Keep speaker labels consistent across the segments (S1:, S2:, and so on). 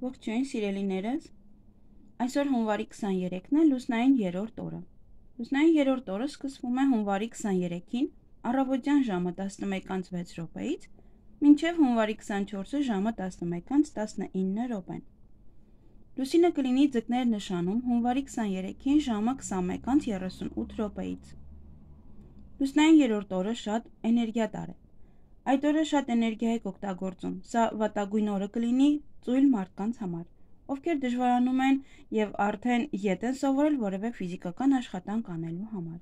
S1: Ողջույն սիրելիներս, այսօր հունվարի 23-ն է լուսնային 3-րդ օրը։ Լուսնային 3-րդ օրը սկսվում է հունվարի 23-ին առավոտյան ժամը 11:06-ից մինչև հունվարի 24-ը ժամը 11:19 Լուսինը կլինի ձկներ նշանում հունվարի 23-ին ժամը 21:38-ից։ Լուսնային 3-րդ օրը շատ էներգիատար է։ Այդ օրը շատ էներգիա եք օգտագործում, սա վատագույն օրը կլինի ծույլ մարդկանց համար, ովքեր դժվարանում են և արդեն ետ են սովորել որևէ ֆիզիկական աշխատանք անելու համար։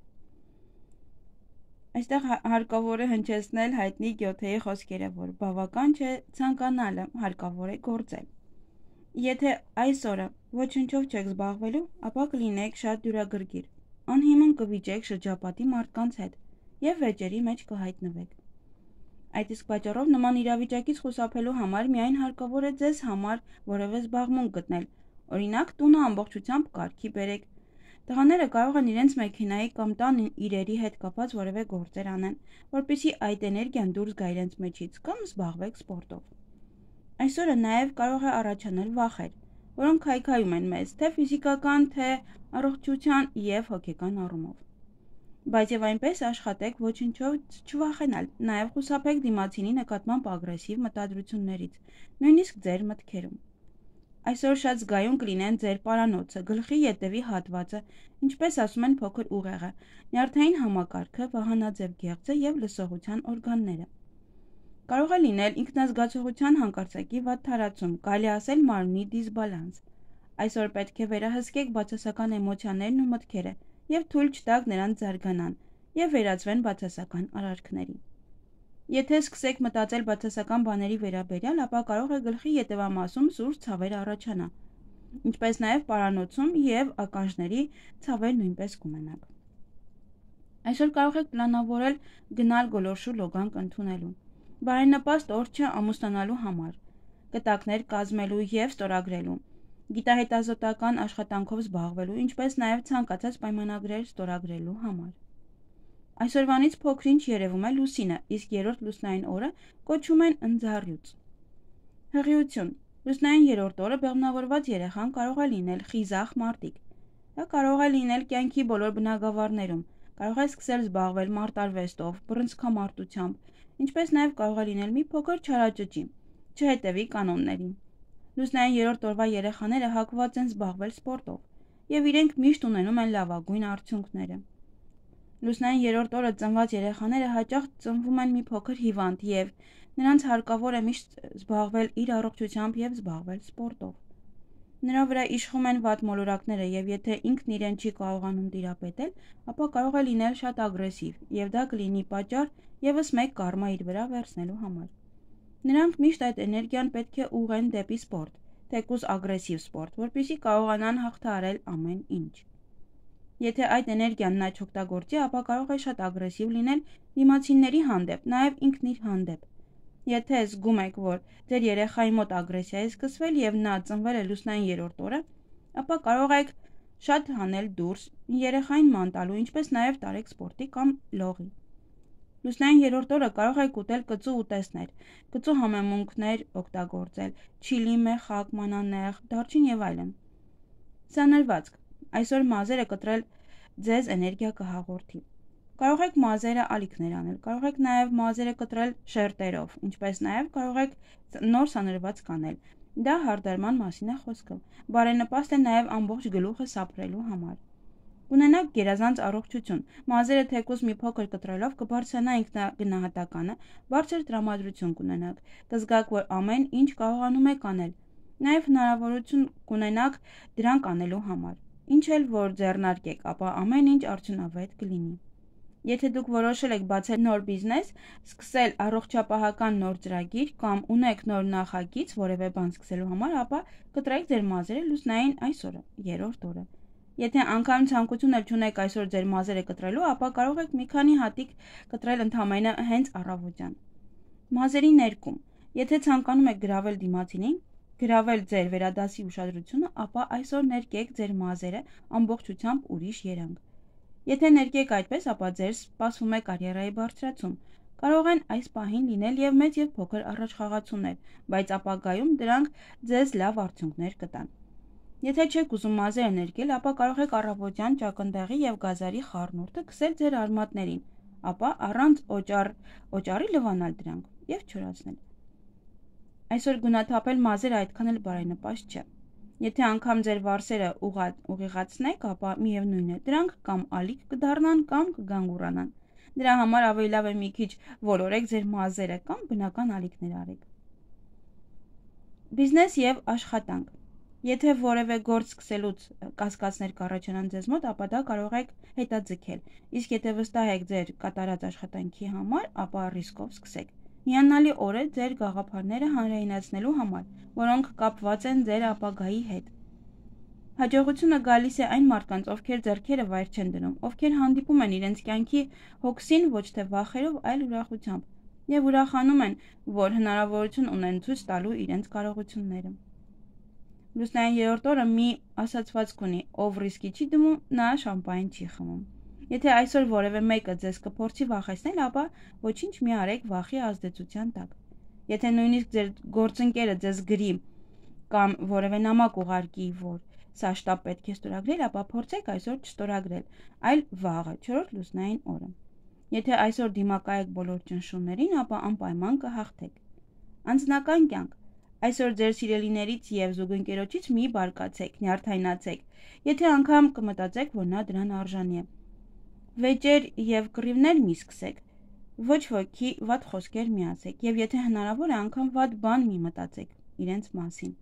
S1: Այստեղ հարկավոր է հնչեցնել հայտնի Գյոթեի խոսքերը, որ բավական չէ ցանկանալը, հարկավոր է գործել։ Եթե այս օրը ոչնչով չեք զբաղվելու, ապա կլինեք շատ դյուրագրգիռ, անհիմն կվիճեք շրջապատի մարդկանց հետ և վեճերի մեջ կհայտնվեք։ Այդ իսկ պատճառով նման իրավիճակից խուսափելու համար միայն հարկավոր է ձեզ համար որևէ զբաղմունք գտնել, օրինակ տունը ամբողջությամբ կարգի բերեք։ Տղաները կարող են իրենց մեքենայի կամ տան իրերի հետ կապված որևէ գործեր անեն, որպեսզի այդ էներգիան դուրս գա իրենց մեջից, կամ զբաղվեք սպորտով։ Այսօրը նաև կարող է առաջանալ վախեր, որոնք քայքայում են մեզ թե ֆիզիկական, թե առողջության և հոգեկան առումով։ Բայց եւ այնպես աշխատեք ոչնչով չվախենալ, նաև խուսափեք դիմացինի նկատմամբ ագրեսիվ մտադրություններից, նույնիսկ ձեր մտքերում։ Այսօր շատ զգայուն կլինեն ձեր պարանոցը, գլխի ետևի հատվածը, ինչպես ասում են փոքր ուղեղը, նյարդային համակարգը, վահանաձև գեղձը եւ լսողության օրգանները։ Կարող է լինել ինքնազգացողության հանկարծակի վատ թարացում, կարելի ասել մարմնի դիսբալանս։ Այսօր պետք է վերահսկեք բացասական էմոցիաներն ու մտքերը և թույլ չտաք նրանց զարգանան և վերածվեն բացասական արարքների։ Եթե սկսեք մտածել բացասական բաների վերաբերյալ, ապա կարող է գլխի ետևամասում սուր ցավեր առաջանա, ինչպես նաև պարանոցում և ականջների ցավեր նույնպես կունենաք։ Այսօր կարող եք պլանավորել գնալ գոլորշու լոգանք ընդունելու, բարենպաստ օր չէ ամուսնանալու համար, կտակներ կազմելու և ստորագրելու, գիտահետազոտական աշխատանքով զբաղվելու, ինչպես նաև ցանկացած պայմանագրեր ստորագրելու համար։ Այսօրվանից փոքր-ինչ երևում է լուսինը, իսկ 3-րդ լուսնային օրը կոչում են ընձառյուծ։ Հղիություն։ Լուսնային 3-րդ օրը բեղմնավորված երեխան կարող է լինել խիզախ մարտիկ։ Դա կարող է լինել կյանքի բոլոր բնագավառներում, կարող է սկսել զբաղվել մարտարվեստով, բռնցքամարտությամբ, ինչպես նաև կարող է լինել մի փոքր չարաճճի, չհետևի կանոններին։ Լուսնային 3-րդ օրվա երեխաները հակված են զբաղվել սպորտով, և իրենք միշտ ունենում են լավագույն արդյունքները։ Լուսնային 3-րդ օրը ծնված երեխաները հաճախ ծնվում են մի փոքր հիվանդ և նրանց հարկավոր է միշտ զբաղվել իր առողջությամբ և զբաղվել սպորտով։ Նրա վրա իշխում են վատ մոլորակները և եթե ինքն իրեն չի կարողանում տիրապետել, ապա կարող է լինել շատ ագրեսիվ և դա կլինի պատճառ ևս մեկ կարմա իր վրա վերցնելու համար։ Նրանք միշտ այդ էներգիան պետք է ուղղեն դեպի սպորտ, թեկուզ ագրեսիվ սպորտ, որպեսզի կարողանան հաղթահարել ամեն ինչ։ Եթե այդ էներգիան նա չօգտագործի, ապա կարող է շատ ագրեսիվ լինել դիմացինների հանդեպ, նաև ինքն իր հանդեպ։ Եթե զգում եք, որ ձեր երեխայի մոտ ագրեսիա է սկսվել և նա ծնվել է լուսնային 3-րդ օրը, ապա կարող եք շատ հանել դուրս, երեխային ման տալու, ինչպես նաև տարեք սպորտի կամ լողի։ Լուսնային 3-րդ օրը կարող եք ուտել կծու ուտեստներ, կծու համեմունքներ օգտագործել, չիլի, մեխակ, մանանեխ, դարչին և այլն։ Սանրվածք։ Այսօր մազերը կտրել ձեզ էներգիա կհաղորդի։ Կարող եք մազերը ալիքներ անել, կարող եք նաև մազերը կտրել շերտերով, ինչպես նաև կարող եք նոր սանրվածք անել։ Դա հարդարման մասին է խոսքը։ Բարենպաստ է նաև ամբողջ գլուխը սափրելու համար։ Կունենաք գերազանց առողջություն, մազերը թեկուզ մի փոքր կտրելով կբարձրանա ինքնագնահատականը, բարձր տրամադրություն կունենաք, կզգաք, որ ամեն ինչ կարողանում եք անել, նաև հնարավորություն կունենաք դրանք անելու համար, ինչ էլ որ ձեռնարկեք, ապա ամեն ինչ արդյունավետ կլինի։ Եթե դուք որոշել եք բացել նոր բիզնես, սկսել առողջապահական նոր ծրագիր կամ ունեք նոր նախագիծ որևէ բան սկսելու համար, ապա կտրեք ձեր մազերը լուսնային այս օրը, 3-րդ օրը։ Եթե անգամ ցանկություն էլ չունեք այսօր ձեր մազերը կտրելու, ապա կարող եք մի քանի հատիկ կտրել ընդամենը հենց առավոտյան։ Մազերի ներկում։ Եթե ցանկանում եք գրավել դիմացինին, գրավել ձեր վերադասի ուշադրությունը, ապա այսօր ներկեք ձեր մազերը ամբողջությամբ ուրիշ երանգ։ Եթե ներկեք այդպես, ապա ձեզ սպասվում է կարիերայի բարձրացում, կարող են այս պահին լինել և մեծ և փոքր առաջխաղացումներ, բայց ապագայում դրանք ձեզ լավ արդյունքներ կտան։ Եթե չեք ուզում մազերը ներկել, ապա կարող եք առավոտյան ճակնդեղի և գազարի խառնուրդը քսել ձեր արմատներին, ապա առանց օճառի լվանալ դրանք և չորացնել։ Այսօր գունաթափել մազերը այդքան էլ բարենպաստ չէ։ Եթե անգամ ձեր վարսերը ուղիղացնեք, ապա միևնույն է, դրանք կամ ալիք կդառնան, կամ կգանգուրանան։ Դրա համար ավելի լավ է մի քիչ ոլորեք ձեր մազերը կամ բնական ալիքներ արեք։ Բիզնես և աշխատանք։ Եթե որևէ գործ սկսելուց կասկածներ կառաջանան ձեզ մոտ, ապա դա կարող եք հետաձգել, իսկ եթե վստահ եք ձեր կատարած աշխատանքի համար, ապա ռիսկով սկսեք։ Հիանալի օր է ձեր գաղափարները հանրայնացնելու համար, որոնք կապված են ձեր ապագայի հետ։ Հաջողությունը գալիս է այն մարդկանց, ովքեր ձեռքերը վայր չեն դնում, ովքեր հանդիպում են իրենց կյանքի հոգսին ոչ թե վախերով, այլ ուրախությամբ, և ուրախանում են, որ հնարավորություն ունեն ցույց տալու իրենց կարողությունները։ Լուսնային երրորդ օրը մի ասացվածք ունի, ով ռիսկի չի դնում, նա շամպայն չի խմում։ Եթե այսօր որևէ մեկը ձեզ կփորձի վախեցնել, ապա ոչինչ մի արեք վախի ազդեցության տակ։ Եթե նույնիսկ ձեր գործընկերը ձեզ գրի կամ որևէ նամակ ուղարկի, որ սա շտապ պետք է ստորագրել, ապա փորձեք այսօր չստորագրել, այլ վաղը, 4-րդ լուսնային օրը։ Եթե այսօր դիմակայեք բոլոր ճնշումներին, ապա անպայման կհաղթեք։ Անձնական կյանք։ Այսօր ձեր սիրելիներից և զուգընկերոջից մի բարկացեք, նյարդայնացեք, եթե անգամ կմտածեք, որ նա դրան արժանի է։ Վեճեր և կռիվներ մի սկսեք, ոչ ոքի վատ խոսքեր մի ասեք, և եթե հնարավոր է, անգամ վատ բան մի մտածեք իրենց մասին։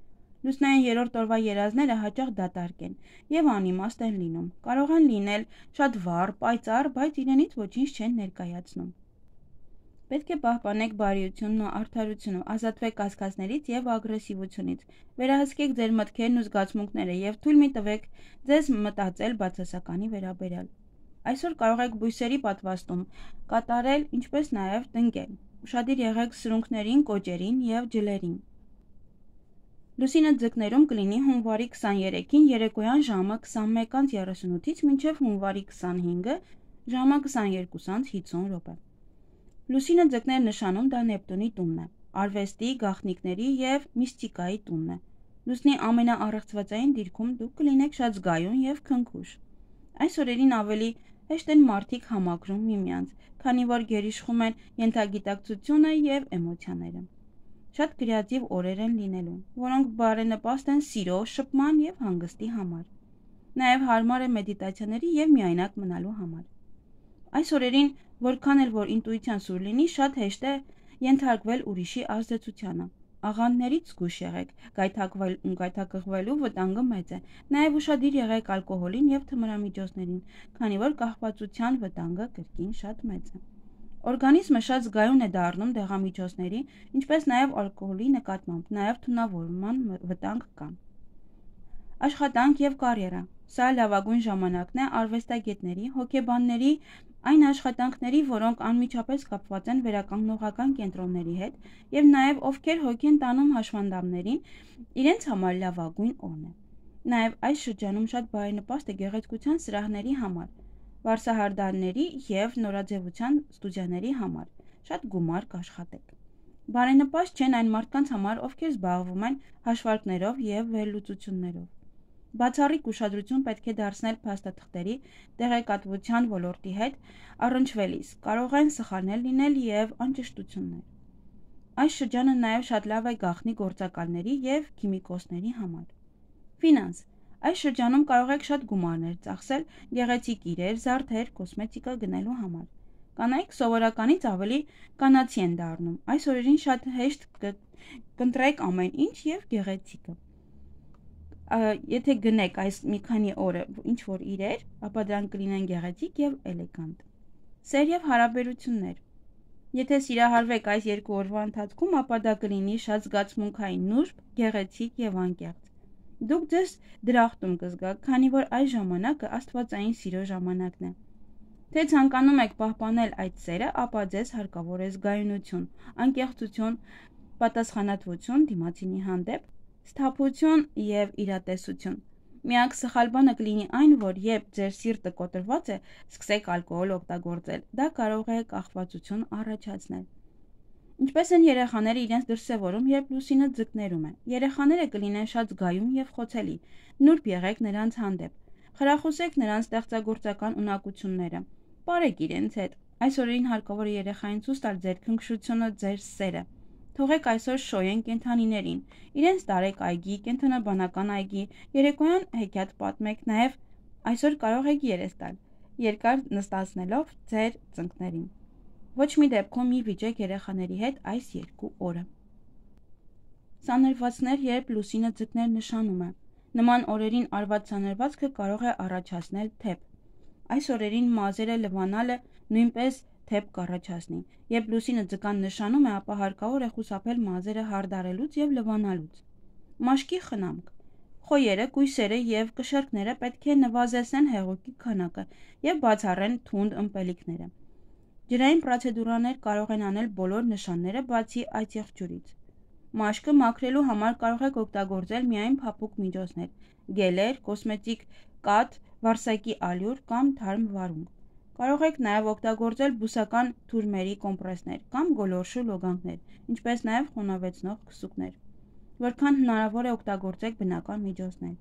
S1: Լուսնային երրորդ օրվա երազները հաճախ դատարկ են և անիմաստ են լինում, կարող են լինել շատ վառ, պայծառ, բայց իրենից ոչինչ չեն ներկայացնում։ Պետք է պահպանեք բարիությունն ու արդարությունը, ազատվեք կասկածներից և ագրեսիվությունից, վերահսկեք ձեր մտքերն ու զգացմունքները և թույլ մի տվեք ձեզ մտածել բացասականի վերաբերյալ։ Այսօր կարող եք բույսերի պատվաստում կատարել, ինչպես նաև տնկել։ Ուշադիր եղեք սրունքներին, կոճերին և ջլերին։ Լուսինը ձկներում կլինի հունվարի 23-ին երեկոյան ժամը 21:38-ից մինչև հունվարի 25-ը ժամը 22:50 րոպե։ Լուսինը ձկներ նշանում դա Նեպտունի տունն է, արվեստի, գաղտնիքների և միստիկայի տունն է։ Լուսնի ամենաառեղծվածային դիրքում դուք կլինեք շատ զգայուն և քնքուշ։ Այս օրերին ավելի հեշտ են մարդիկ համակրում միմյանց, քանի որ գերիշխում են ենթագիտակցությունը և էմոցիաները։ Շատ կրեատիվ օրեր են լինելու, որոնք բարենպաստ են սիրո, շփման և հանգստի համար։ Նաև հարմար է մեդիտացիաների և միայնակ մնալու համար։ Այս օրերին, որքան էլ որ ինտուիցիան սուր լինի, շատ հեշտ է ենթարկվել ուրիշի ազդեցությանը։ Աղանդներից զգույշ եղեք, գայթակղվելու վտանգը մեծ է։ Նաև ուշադիր եղեք ալկոհոլին և թմրամիջոցներին, քանի որ կախվածության վտանգը կրկին շատ մեծ է։ Օրգանիզմը շատ զգայուն է դառնում դեղամիջոցների, ինչպես նաև ալկոհոլի նկատմամբ, նաև թունավորման վտանգ կա։ Աշխատանք և կարիերա։ Սա լավագույն ժամանակն է արվեստագետների, հոգեբանների, այն աշխատանքների, որոնք անմիջապես կապված են վերականգնողական կենտրոնների հետ, և նաև ովքեր հոգի են տանում հաշվանդամներին, իրենց համար լավագույն օրն է։ Նաև այս շրջանում շատ բարենպաստ է գեղեցկության սրահների համար, վարսահարդարների և նորաձևության ստուդիաների համար, շատ գումար կաշխատեք։ Բարենպաստ չեն այն մարդկանց համար, ովքեր զբաղվում են հաշվարկներով և վերլուծություններով։ Բացառիկ ուշադրություն պետք է դարձնել փաստաթղթերի տեղեկատվության ոլորտի հետ առնչվելիս, կարող են սխալներ լինել և անճշտություններ։ Այս շրջանը նաև շատ լավ է գաղտնի գործակալների և քիմիկոսների համար։ Ֆինանս։ Այս շրջանում կարող եք շատ գումարներ ծախսել գեղեցիկ իրեր, զարդեր, կոսմետիկա գնելու համար։ Կանայք սովորականից ավելի կանացի են դառնում։ Այս օրերին շատ հեշտ կընտրեք ամեն ինչ և գեղեցիկը։ Եթե գնեք այս մի քանի օրը ինչ-որ իրեր, ապա դրանք կլինեն գեղեցիկ և էլեգանտ։ Սեր և հարաբերություններ։ Եթե սիրահարվեք այս 2 օրվա ընթացքում, ապա դա կլինի շատ զգացմունքային, նուրբ, գեղեցիկ և անկեղծ։ Դուք ձեզ դրախտում կզգաք, քանի որ այս ժամանակը աստվածային սիրո ժամանակն է։ Թե ցանկանում եք պահպանել այդ սերը, ապա ձեզ հարկավոր է զգայունություն, անկեղծություն, պատասխանատվություն դիմացինի հանդեպ, սթափություն և իրատեսություն։ Միակ սխալ բանը կլինի այն, որ երբ ձեր սիրտը կոտրված է, սկսեք ալկոհոլ օգտագործել, դա կարող է կախվածություն առաջացնել։ Ինչպես են երեխաները իրենց դրսևորում, երբ լուսինը ձկներում է։ Երեխաները կլինեն շատ զգայուն և խոցելի, նուրբ եղեք նրանց հանդեպ, խրախուսեք նրանց ստեղծագործական ունակությունները, պարեք իրենց հետ։ Այս օրերին հարկավոր է երեխային ցույց տալ ձեր քնքշությունը, ձեր սերը։ Թողեք այսօր շոյեն կենդանիներին, իրենց տարեք այգի, կենդանաբանական այգի, երեկոյան հեքիաթ պատմեք, նաև այսօր կարող եք երես տալ, երկար նստացնելով ձեր ծնկներին։ Ոչ մի դեպքում մի վիճեք երեխաների հետ այս 2 օրը։ Սանրվածքներ, երբ լուսինը ձկներ նշանում է։ Նման օրերին արված սանրվածքը կարող է առաջացնել թեփ։ Այս օրերին մազերը լվանալը նույնպես թեփ կառաջացնի։ Երբ լուսինը ձկան նշանում է, ապա հարկավոր է խուսափել մազերը հարդարելուց եւ լվանալուց։ Մաշկի խնամք։ Խոյերը, կույսերը եւ կշերկները պետք է նվազեցնեն հեղուկի քանակը եւ բացառեն թունդ ըմպելիքները։ Ջրային պրոցեդուրաներ կարող են անել բոլոր նշանները բացի այդ եղջյուրից։ Մաշկը մաքրելու համար կարող եք օգտագործել միայն փափուկ միջոցներ՝ գելեր, կոսմետիկ կաթ, վարսակի ալյուր կամ թարմ վարունգ։ Կարող եք նաև օգտագործել բուսական թուրմերի կոմպրեսներ կամ գոլորշու լոգանքներ, ինչպես նաև խոնավեցնող քսուկներ։ Որքան հնարավոր է օգտագործեք բնական միջոցներ։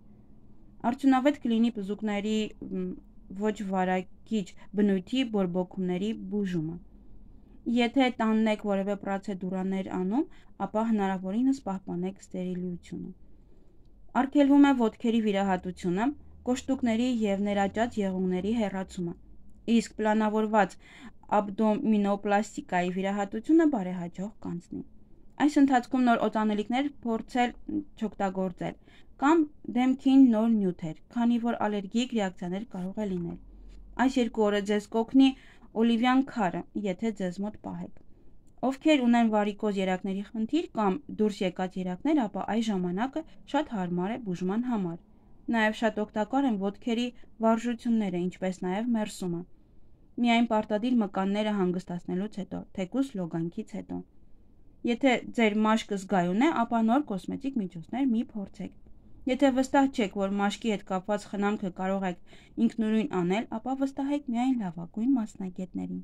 S1: Արդյունավետ կլինի բզուկների ոչ վարակիչ բնույթի բորբոքումների բուժումը։ Եթե տանն եք որևէ պրոցեդուրաներ անում, ապա հնարավորինս պահպանեք ստերիլությունը։ Արգելվում է ոտքերի վիրահատությունը, կոշտուկների և ներաճած եղունգների հեռացումը, իսկ պլանավորված աբդոմինոպլաստիկայի վիրահատությունը բարեհաջող կանցնի։ Այս ընթացքում նոր օծանելիքներ փորձել չօգտագործել կամ դեմքին նոր նյութեր, քանի որ ալերգիկ ռեակցիաներ կարող է լինել։ Այս 2 օրը ձեզ կօգնի օլիվյան քարը, եթե ձեզ մոտ պահեք։ Ովքեր ունեն վարիկոզ երակների խնդիր կամ դուրս եկած երակներ, ապա այս ժամանակը շատ հարմար է բուժման համար։ Նաև շատ օգտակար են ոտքերի վարժությունները, ինչպես նաև մերսումը։ Միայն պարտադիր մկանները հանգստացնելուց հետո, թեկուզ լոգանքից հետո։ Եթե ձեր մաշկը զգայուն է, ապա նոր կոսմետիկ միջոցներ մի փորձեք։ Եթե վստահ չեք, որ մաշկի հետ կապված խնամքը կարող եք ինքնուրույն անել, ապա վստահեք միայն լավագույն մասնագետներին։